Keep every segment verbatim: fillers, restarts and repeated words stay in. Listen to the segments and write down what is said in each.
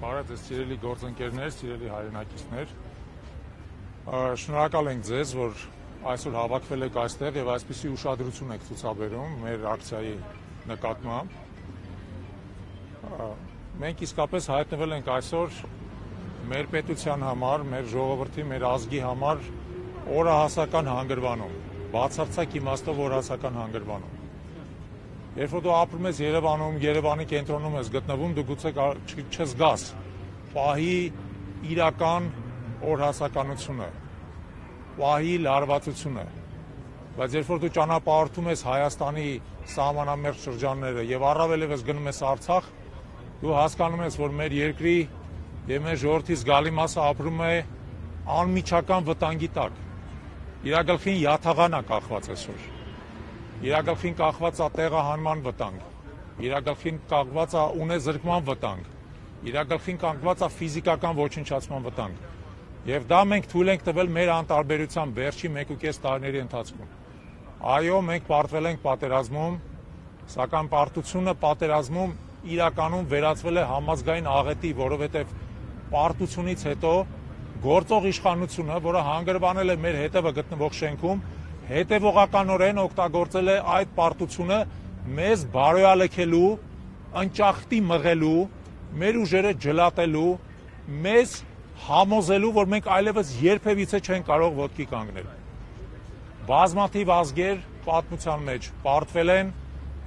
Բարև ձեզ սիրելի գործընկերներ, սիրելի հայրենակիցներ, շնորհակալ ենք ձեզ, որ այսօր հավաքվել եք այստեղ եւ այսպիսի ուշադրություն եք ցուցաբերում մեր ակցիայի նկատմամբ։ Մենք իսկապես հայտնվել ենք այսօր մեր պետության համար, մեր ժողովրդի, մեր ազգի համար օրահասական հանգրվանում, բացարձակ իմաստով օրահասական հանգրվանում։ Երբ որ դու ապրում ես Երևանում, Երևանի կենտրոնում ես գտնվում, դու գուցե չզգաս պահի իրական օրհասականությունը, պահի լարվածությունը, բայց երբ որ դու ճանապարհորդում ես Հայաստանի սահմանամերձ շրջանները եւ առավել եւս գնում ես Արցախ, դու հասկանում ես, որ մեր երկրի եւ մեր ժողովրդի զգալի մասը ապրում է անմիջական վտանգի տակ։ Իր գլխին յաթաղան է կախված այսօր։ Իր գլխին կախված է տեղահանման վտանգ, իր գլխին կախված է ունեզրկման վտանգ, իր գլխին կախված է ֆիզիկական ոչնչացման վտանգ։ Եվ դա մենք թույլ ենք տվել մեր անտարբերությամբ վերջի մեկ ու կես տարիների ընթացքում։ Այո, մենք պարտվել ենք պատերազմում, սակայն պարտությունը պատերազմում իրականում վերածվել է համազգային աղետի, որովհետև պարտությունից հետո գործող իշխանությունը, որը հանգրվանել է մեր հետևը գտնվող շենքում, հետևողականորեն օգտագործել է այդ պարտությունը մեզ բարոյալքելու, ընճախտի մղելու, մեր ուժերը ջլատելու, մեզ համոզելու, որ մենք այլևս երբևիցե չեն կարող ոտքի կանգնել։ Բազմաթիվ ազգեր պատմության մեջ պարտվել են,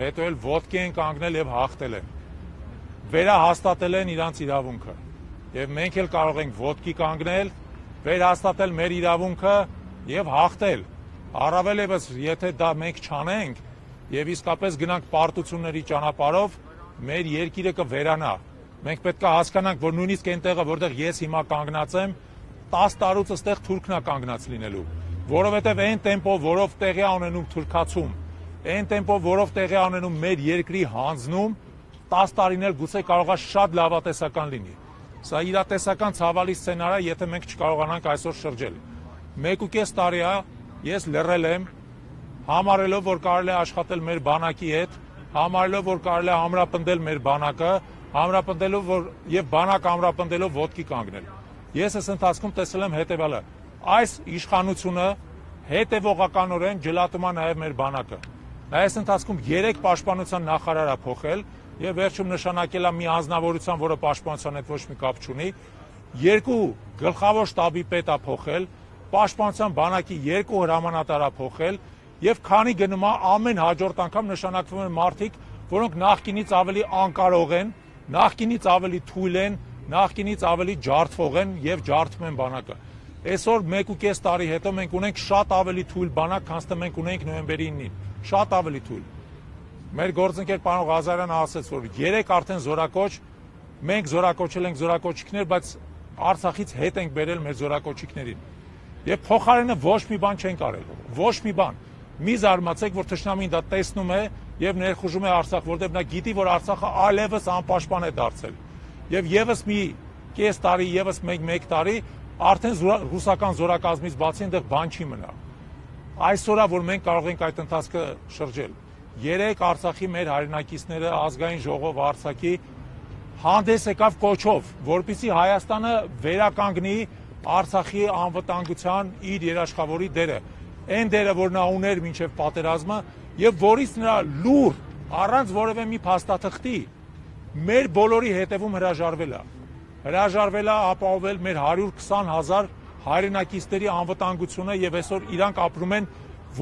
հետո էլ ոտքի են կանգնել եւ հաղթել են։ Վերահաստատել են իրանց իրավունքը։ Եվ մենք էլ կարող ենք ոտքի կանգնել, վերահաստատել մեր իրավունքը եւ հաղթել։ Առավել եւս, եթե դա մենք չանենք եւ իսկապես գնանք պարտությունների ճանապարհով, մեր երկիրը կվերանա։ Մենք պետք է հասկանանք, որ նույնիսկ այնտեղը, որտեղ ես հիմա կանգնած եմ, տասը տարուց այստեղ թուրքն է կանգնած լինելու, որովհետեւ այն տեմպով, որով տեղի ունենում թուրքացում, այն տեմպով, որով տեղի ունենում մեր երկրի հանձնում, տասը տարին էլ գուցե կարող է շատ լավատեսական լինի։ Սա իրատեսական ցավալի սցենար է, եթե մենք չկարողանանք այսօր շրջել։ Մեկ ու կես տարի է ես լռել եմ, համարելով, որ կարելի է աշխատել մեր բանակի հետ, համարելով, որ կարելի է ամրապնդել մեր բանակը, ամրապնդելով, որ եւ բանակ ամրապնդելով ոտքի կանգնել։ Ես այս ընթացքում տեսել եմ հետեւյալը. այս իշխանությունը հետևողականորեն ջլատում է նաեւ մեր բանակը։ Այս ընթացքում երեք պաշտպանության նախարար է փոխել եւ վերջում նշանակել է մի անձնավորության, որը պաշտպանության հետ ոչ մի կապ չունի, երկու գլխավոր շտաբի պետ է փոխել, պաշտպանության բանակի երկու հրամանատար է փոխել եւ քանի գնում է ամեն հաջորդ անգամ նշանակվում են մարդիկ, որոնք նախկինից ավելի անկարող են, նախկինից ավելի թույլ են, նախկինից ավելի ջարդվող են եւ ջարդում են բանակը։ Այսօր մեկ ու կես տարի հետո մենք ունենք շատ ավելի թույլ բանակ, քան թե մենք ունենք նոյեմբերի ինին, շատ ավելի թույլ։ Մեր գործընկեր պարոն Ղազարյանը ասաց, որ երեք արդեն զորակոչ, մենք զորակոչել ենք զորակոչիկներ, բայց Արցախից հետ ենք բերել մեր զորակոչիկներին։ Եվ փոխարենը ոչ մի բան չեն կարել, ոչ մի բան։ Մի զարմացեք, որ թշնամին դա տեսնում է եւ ներխուժում է Արցախ, որտեղ նա գիտի, որ Արցախը այլևս անպաշտպան է դարձել։ Եվ եւս մի կես տարի, եւս մեկ տարի արդեն ռուսական զորակազմից բացի այնտեղ բան չի մնա։ Այսօրը, որ մենք կարող ենք այդ ընթացքը շրջել, երեք Արցախի մեր հայրենակիցները ազգային ժողով Արցախի հանդես եկավ կոչով, որպեսզի Հայաստանը վերականգնի Արցախի անվտանգության իր երաշխավորի դերը, այն դերը, որ նա ուներ մինչև պատերազմը եւ որից նրա լուր առանց որևէ մի փաստաթղթի մեր բոլորի հետևում հրաժարվել է։ Հրաժարվել է ապահովել մեր հարյուր քսան հազար հայրենակիցների անվտանգությունը եւ այսօր իրանք ապրում են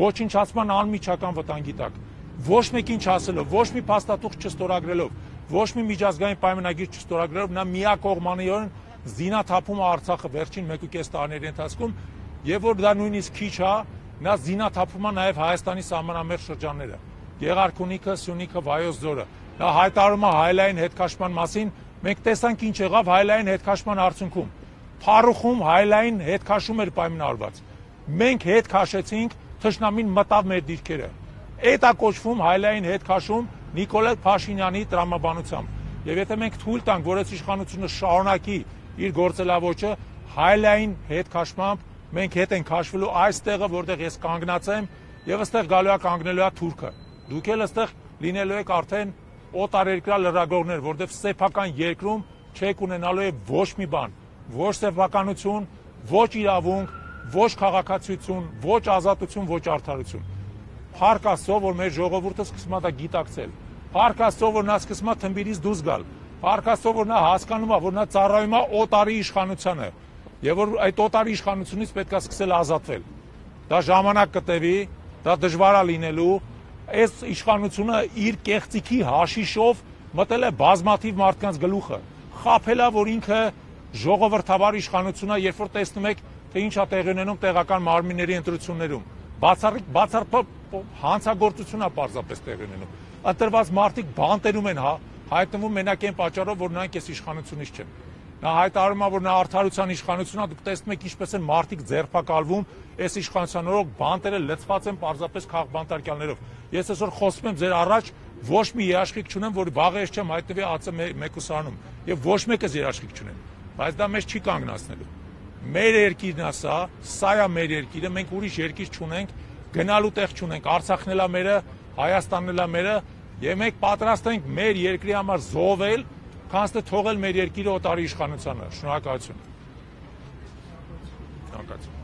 ոչնչացման անմիջական վտանգի տակ։ Ոչ մեկին չասելով, ոչ մի փաստաթուղթ չստորագրելով, ոչ մի միջազգային պայմանագիր չստորագրելով, նա միակողմանիորեն զինաթափում է Արցախը վերջին մեկ ու կես տարիների ընթացքում եւ որ դա նույնիսկ քիչ է, նա զինաթափում է նաեւ Հայաստանի սահմանամերձ շրջանները, Գեղարքունիքը, Սյունիքը, Վայոց ձորը։ Նա հայտարարում է հայլային հետքաշման մասին, մենք տեսանք ինչ եղավ հայլային հետքաշման արդյունքում։ Փառուխում հայլային հետքաշում էր պայմանավորված։ Մենք հետ քաշեցինք, թշնամին մտավ մեր դիրքերը։ Այդ է կոչվում հայլային հետքաշում Նիկոլ Փաշինյանի տրամաբանությամբ։ Եվ եթե մենք թույլ տանք, որ այս իշխանությունը շարունակի իր գործելավոճը, հայլային հետքաշմամբ մենք հետ ենք քաշվելու այստեղը, որտեղ ես կանգնած եմ, եւ այստեղ գալու է կանգնելու է թուրքը։ Դուք էլ այստեղ լինելու եք արդեն օտարերկրյա լրագրողներ, որտեղ սեփական երկրում չեք ունենալու է ոչ մի բան, ոչ սեփականություն, ոչ իրավունք, ոչ քաղաքացիություն, ոչ ազատություն, ոչ արդարություն։ Փառք Աստծո, որ մեր ժողովուրդը սկսում է դա գիտակցել։ Փառք Աստծո, որ նա սկսում է թմբիրից դուրս գալ։ Փառք Աստծո, որ նա հասկանում է, որ նա ծառայում է օտարի իշխանությանը, եւ որ այդ օտարի իշխանությունից պետք է սկսել ազատվել։ Դա ժամանակ կտևի, դա դժվար է լինելու, այս իշխանությունը իր կեղծիքի հաշիշով մտել է բազմաթիվ մարդկանց գլուխը, խաբել է, որ ինքը ժողովրդավար իշխանություն է, երբ որ տեսնում եք, թե ինչ է տեղի ունենում տեղական մարմինների ընտրություններում, բացառիկ հանցագործություն է պարզապես տեղի ունենում, ընտրված մարդիկ բանտերում են հայտնվում մենակ այն պատճառով, որ նրանք այս իշխանությունից չեն։ Նա հայտարարում է, որ նա արդարության իշխանությունն է, դուք տեսնում եք ինչպես են մարդիկ ձերբակալվում, այս իշխանության օրոք բանտերը լցված են պարզապես քաղբանտարկյալներով։ Ես այսօր խոսում եմ ձեր առաջ, ոչ մի երաշխիք չունեմ, որ վաղը ես չեմ հայտնվի ԱՑ մեկուսարանում, եւ ոչ մեկս երաշխիք չունեմ, բայց դա մեզ չի կանգնացնելու։ Մեր երկիրն է սա, սա է մեր երկիրը, մենք ուրիշ երկիր չունենք, գնալու տեղ չունենք, Արցախն էլ է մերը, Հայաստանն էլ է մերը, եւ մենք պատրաստ ենք մեր երկրի համար զոհվել, քանց թե թողել մեր երկիրը օտարի իշխանությանը։ Շնորհակալություն։ Շնորհակալություն։